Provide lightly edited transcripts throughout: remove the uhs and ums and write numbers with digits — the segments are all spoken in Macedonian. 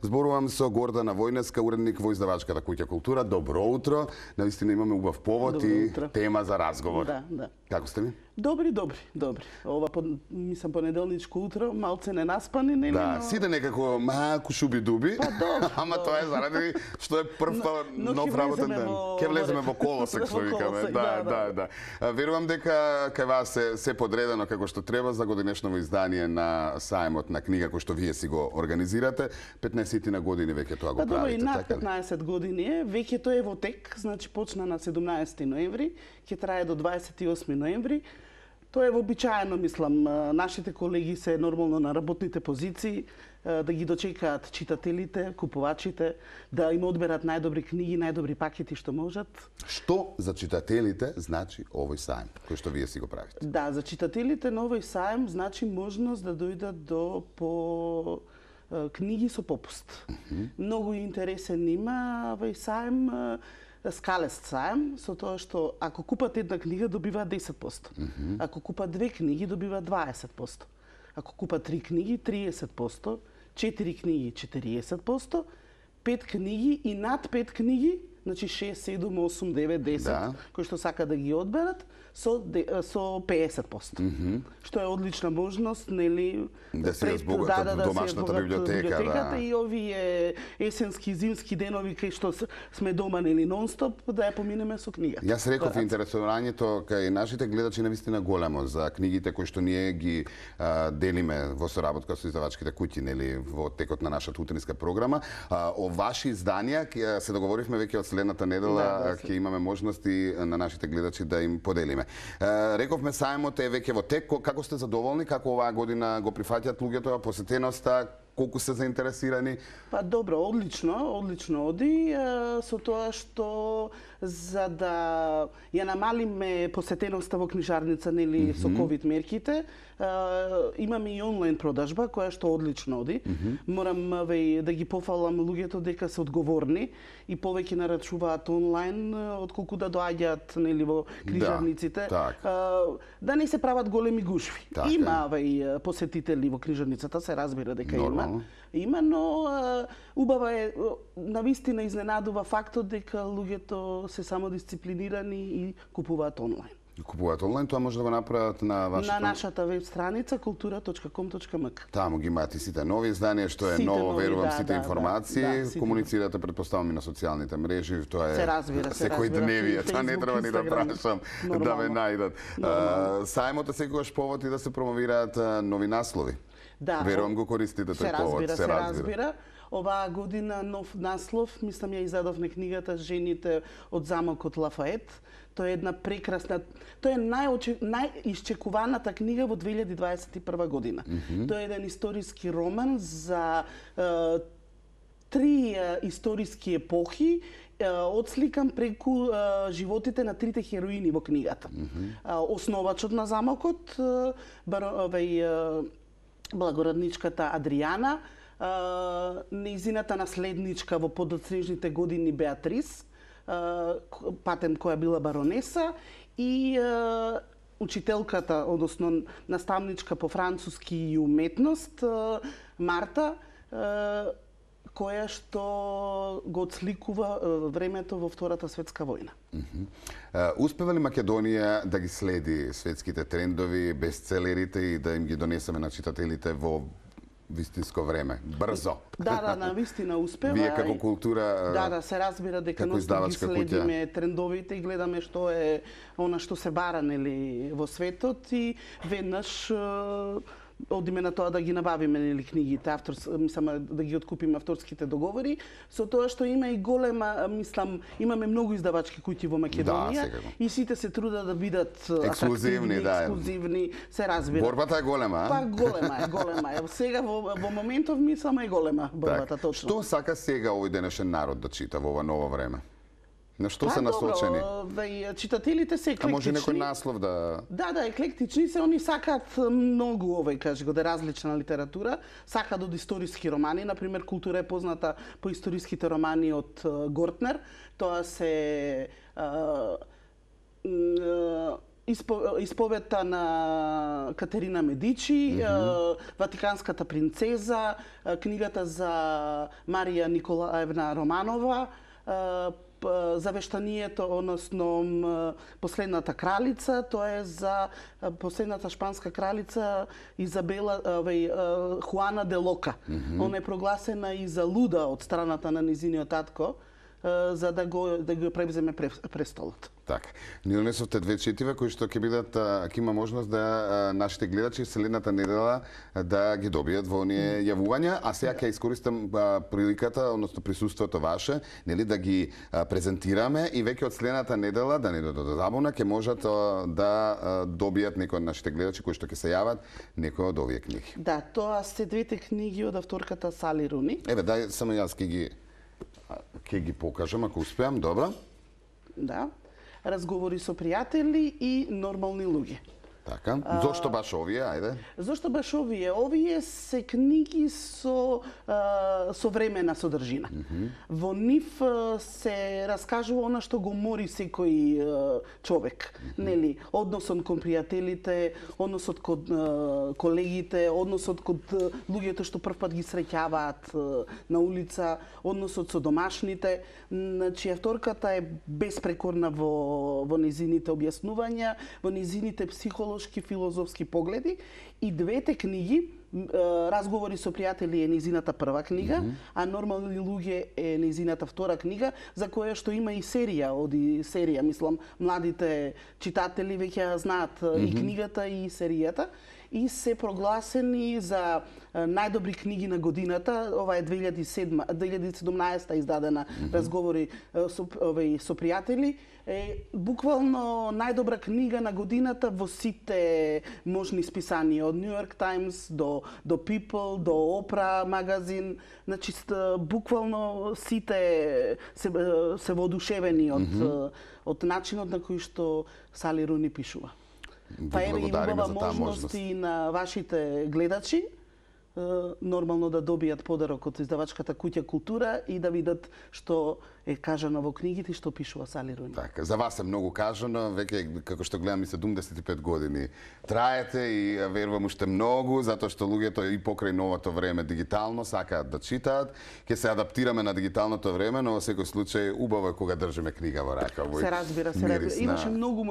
Зборувам со Гордана Војнеска, уредник во издавачката куќа Култура. Добро утро. Навистина имаме убав повод и тема за разговор. Да. Како сте ми? Добри. Ова мислам понеделничко утро, малце ненаспани, нели? Да, сите некако малку шуби-дуби. Па добро. Ама тоа е заради што е прв нов работен ден. Ке влеземе во колосек, што викаме. Да. Верувам дека кај вас се подредено како што треба за годинешново издание на сајмот на книга кој што вие си го организирате. 15 на години веќе тоа го правите, така? Па добро, и над 15 години е. Веќе тоа е во тек, значи почна на 17 ноември, ќе трае до 28 ноември. Тоа е вообичаено, мислам, нашите колеги се нормално на работните позиции, да ги дочекаат читателите, купувачите, да им одберат најдобри книги, најдобри пакети што можат. Што за читателите значи овој сајм, кој што вие си го правите? Да, за читателите на овој сајм значи можност да дојдат до книги со попуст. Многу интересен има овој сајм, скалест сајм, со тоа што ако купат една книга добиваат 10%. Ако купат две книги добиваат 20%. Ако купат 3 книги 30%, 4 книги 40%, 5 книги и над 5 книги, значи 6, 7, 8, 9, 10, кои што сака да ги одберат, со 50%. Што е одлична можност, нели, да се разбогатат домашната библиотека, и овие есенски, зимски денови кај што сме дома, нели, нон-стоп, да ја поминеме со книга. Јас реков интересувањето кај нашите гледачи навистина големо за книгите кои што ние ги делиме во соработка со издавачките куќи, нели, во текот на нашата утринска програма. О ваши изданија се договоривме веќе од следната недела, ќе имаме можности на нашите гледачи да им поделиме. Рековме сајмот е веќе во тек. Како сте задоволни? Како оваа година го прифаќаат луѓето, посетеноста? Колку се заинтересирани? Па добро, одлично оди, со тоа што за да ја намалиме посетеноста во книжарница, нели, со ковид мерките, имаме и онлайн продажба која што одлично оди. Морам да ги пофалам луѓето дека се одговорни и повеќе нарачуваат онлайн отколку да доаѓаат, нели, во книжарниците. Да не се прават големи гушви. Има посетители во книжарницата, се разбира дека има, но убава е, навистина изненадува фактот дека луѓето се самодисциплинирани и купуваат онлайн. Купуваат онлайн, тоа може да го направат на вашата... На нашата веб страница kultura.com.mk. Таму ги имате сите нови изданија, што е ново, верувам, сите информации. Комуницирате, предпоставам, и на социјалните мрежи, тоа е секојдневие, тоа не треба ни да прашам да ме најдат. Сајмот е секогаш повод и да се промовираат нови наслови. Верувам го користите тој повод. Се разбира. Оваа година нов наслов, мислам ја издадовме книгата Жените од замокот Лафает. Тоа е една прекрасна, тоа е најисчекуваната книга во 2021 година. Тоа е еден историски роман за 3 историски епохи, отсликан преку животите на 3 хероини во книгата. Основачот на замокот, благородничката Адријана, нејзината наследничка во подоцнежните години Беатрис, Патен која била баронеса, и учителката, односно наставничка по француски и уметност, Марта, која што го отсликува времето во Втората светска војна. Успева ли Македонија да ги следи светските трендови, бестселерите и да им ги донесеме на читателите во вистинско време, брзо? Да, навистина успева. Вие како култура, да, се разбира дека ги следиме трендовите и гледаме што е она што се бара, нели, во светот, и веднаш одиме на тоа да ги набавиме, нели, книгите, мислам да ги откупиме авторските договори, со тоа што има и голема, мислам, имаме многу издавачки куќи во Македонија, и сите се трудат да бидат ексклузивни, се разбира. Борбата е голема, Па голема е. Сега во моментов мислам е голема борбата, точно. Што сака сега овој денешен народ да чита во ова ново време? На што се насочени? Читателите се еклектични. А може некој наслов да... Да, еклектични се, они сакаат многу различна литература, сакаат од историски романи, например Култура е позната по историските романи од Гортнер, тоа се Исповета на Катерина Медичи, Ватиканската принцеза, книгата за Марија Николаевна Романова, завештанието, односно последната кралица, тоа е за последната шпанска кралица Изабела Хуана де Лока. Она е прогласена и за луда од страната на низиниот татко, за да го превземе престолот. Така. Ни донесовте две четива кои што ќе бидат, ќе има можност да нашите гледачи следната недела да ги добијат во оние јавувања, а сега ќе искористам приликата, односно присуството ваше, нели да ги презентираме и веќе од следната недела, да не додадат забуна, ќе можат да добијат некои од нашите гледачи кои што ќе се јават некои од овие книги. Да, тоа се двете книги од авторката Сали Руни. Еве, дај само јас ќе ги покажам ако успеам, добро? Да. Разговори со пријатели и нормални луѓе. Така. Зошто баш овие, ајде? Зошто баш овие? Овие се книги со современа содржина. Во нив се раскажува она што го мори секој човек, нели? Односот кон пријателите, односот кон колегите, односот кон луѓето што првпат ги среќаваат на улица, односот со домашните. Значи авторката е безпрекорна во незините објаснувања, во незините психолошки, филозофски погледи, и двете книги, Разговори со пријатели е незината прва книга, а Нормални луѓе е незината втора книга, за која што има и серија, мислам, младите читатели веќе знаат и книгата и серијата, и се прогласени за најдобри книги на годината. Ова е 2017 издадена Разговори со пријатели. Буквално најдобра книга на годината во сите можни списанија, од New York Times до People, до Oprah магазин. Значи, буквално сите се воодушевени од начинот на кој што Сали Руни пишува. Па еве и убава можност и на вашите гледачи нормално да добијат подарок од издавачката Куќа Култура и да видат што е кажано во книгите и што пишува Сали Руни. Така, за вас е многу кажано, веќе како што гледам и 75 години траете и верувам уште многу, затоа што луѓето и покрај новото време дигитално сакаат да читаат. Ќе се адаптираме на дигиталното време, но во секој случај убаво е кога држиме книга во рака. Се разбира. Имаше многу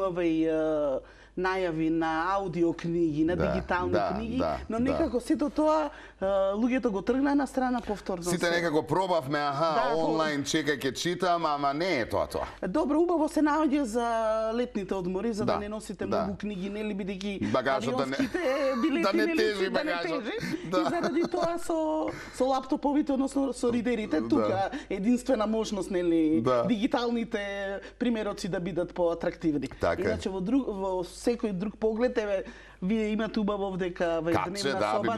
најави на аудио книги, на дигитални книги, но некако сето тоа луѓето го тргна на страна повторно. Сите некако пробавме, онлайн чекај ќе читам, ама не е тоа. Добро, убаво се наоѓа за летните одмори, за да не носите многу книги, нели, бидејќи авионските билети не тежи багажот. И заради тоа со лаптоповите, односно со ридерите, тука единствена можност, нели, дигиталните примероци да бидат поатрактивни. Иначе во секој друг поглед, еве, вие имате убаво овдека дневна соба,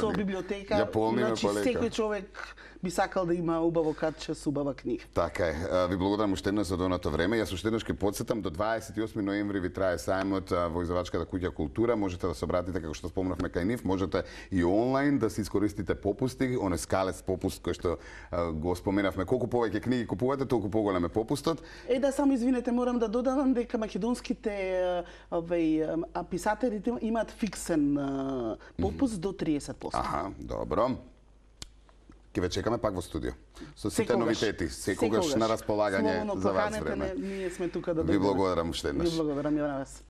со библиотека, значи секој човек би сакал да има убаво катче со убава книга. Така е. Ви благодарам уште еднаш за доното време. Јас уште еднаш ќе потсетам, до 28 ноември ви трае сајмот во издавачката Куќа Култура. Можете да се обратите, како што спомнавме, кај нив. Можете и онлайн да си искористите попусти, оној скалец попуст кој што го споменавме. Колку повеќе книги купувате, толку поголем е попустот. Да, само извинете, морам да додадам дека македонските писателите имаат фиксен попуст до 30%. Аха, добро. Ќе ве чекаме пак во студио. Со сите новитети, секогаш на располагање за вас време. Ние сме тука да дојдеме. Ви благодарам уште еднаш. Ви благодарам и на вас.